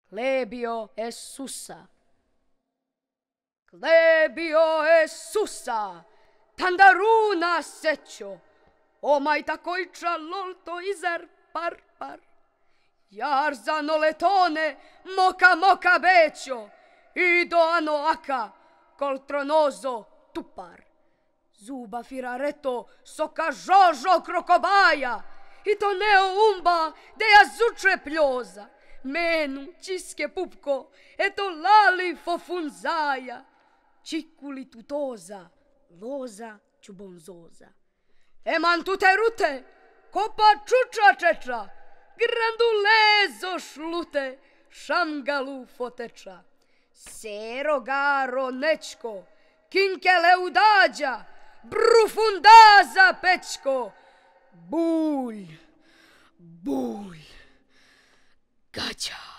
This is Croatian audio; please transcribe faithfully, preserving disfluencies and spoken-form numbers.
Clebio e Susa. Clebio e Susa, tandaruna sećo, omaj takojča lolto izer par par. Jarzano letone, moka moka bećo, i do ano aka, coltronozo tupar. Zuba firareto, soka žožo krokobaja, i to neo umba, de ja zuče pljoza. Menu, čiske pupko, eto lali fofunzaja. Čikuli tutoza, loza čubonzoza. Eman tute rute, kopa čuča čeča, grandulezo šlute, šamgalu foteča. Sero garo nečko, kinkele udađa, brufundaza pečko, bulj, bulj, gađa.